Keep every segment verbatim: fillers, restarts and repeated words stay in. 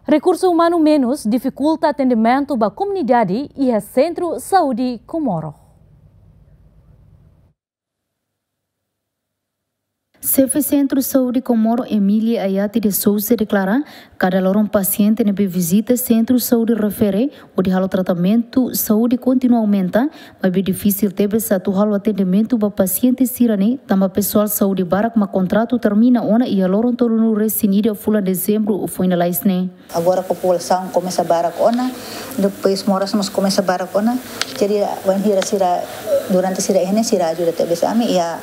Rekursu umanu menus difikulta atendimentu ba komunidade iha Sentru Saúde Comoro. Xefe Sentru Saúde Comoro, Emília Ayati de Sousa, deklara, kada loron pasiente ne'ebé vizita Sentru Saúde refere hodi halo tratamentu saúde kontinua aumenta, maibé difisil tebes atu halo atendimentu ba pasiente sira-ne'e, tanba pesoál saúde barak mak kontratu termina ona iha loron tolunulu-resin-ida fulan Dezembru foin lalais ne'e. Agora populasaun komesa barak ona, depois moras mós komesa barak ona. Jadi, wainhira sira, durante sira iha ne'e, sira ajuda tebes ami iha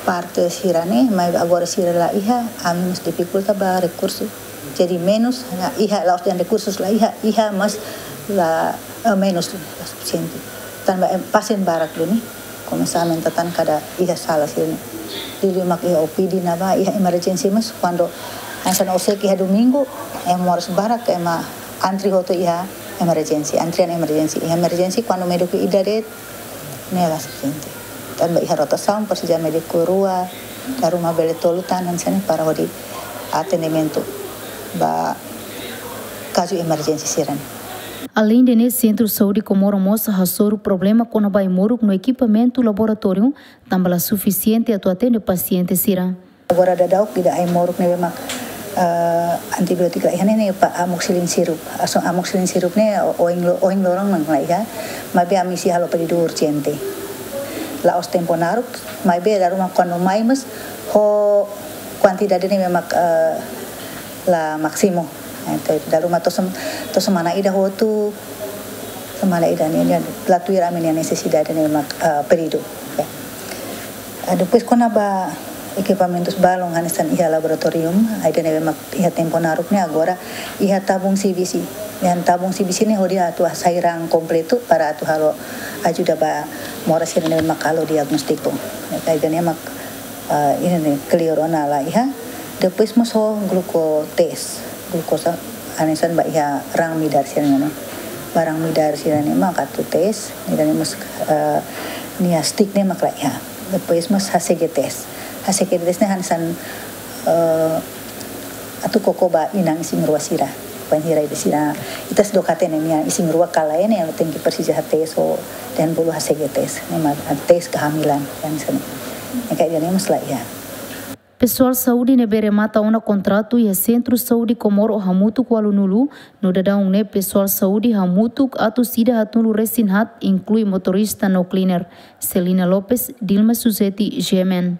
parte sira-ne'e, mas agora sira la iha, ami mós difikulta ba rekursu. Jadi menus, iha la'ós dehan rekursus la iha, iha mas la, eh, menus la sufisiente. Tanba, eh, pasien barak duni. Komesa aumenta tan kada iha sala sira-ne'e. Liuliu mak iha O P D ne'ebá, iha emergency mós, kuandu hanesan orsida iha domingu, eh, moras barak, ema antri hotu iha emergency, antrian emergency. Iha emergency, kuandu médiku ida de'it, ne'e la sufisiente. Tanba iha rotasaun, presiza médiku rua, dala ruma bele tolu tan hanesan ne'e para hodi atendimentu ba kazu emergency sira-ne'e. Aleinde ne'e, Sentru Saúde Comoro mós hasoru problema kona-ba ai-moruk no ekipamentu laboratóriu, tanba la sufisiente atu atende pasiente sira. Agora daudaun ida ai-moruk ne'ebé mak, eh, antibiótiku la iha ne'e, ne'e ba amoxicillin syrup. Aso-, amoxicillin syrup ne'e o-, ohin lo-, ohin loron mak la iha, maibé ami sei halo pedidu urjente. La'ós tempu naruk, maibé dala ruma kuandu mai mós ho kuantidade ne'ebé mak, eh, la másimu. Entaun, dala ruma to'o sem-, to'o semana ida hotu, semana ida nian, nian, la tuir ami-nia nesesidade ne'ebé mak, eh, pedidu. Ya. Ah, depois kona-ba ekipamentus balun hanesan iha laboratorium, ida ne'ebé mak iha tempu naruk ne'e agora, iha tabung C B C. Iha tabung C B C ne'e hodi atu hasai raan kompletu para atu halo ajuda ba moras sira ne'ebé mak halo diagnóstiku. Ida ne'e mak, ah, ida ne'e kleur ona la iha. Depois mós ho gluko test, glukosa hanesan ba iha raan midar sira-ne'e. Ba raan midar sira-ne'e mak atu test, ida ne'e mós, eh, nia stick ne'e mak la iha. Depois mós H C G test. H C G test ne'e hanesan, eh, atu koko ba inan isin-rua sira. Wainhira ida sira, ita sei dook hatene nia isin-rua ka lae ne'e, nia tenke presiza test ho dehan bolu H C G test. Ne'e mak test kehamilan, hanesan ne'e. Ne'e karik ida ne'e mós la iha. Pesoál saúde ne'ebé remata ona kontratu iha Sentru Saúde Comoro hamutuk ualunulu, no daudaun ne'e pesoál saúde hamutuk atus ida haatnulu-resin-haat, inklui motorista no cleaner. Celina Lopes, Dilma Suzeti, G M N.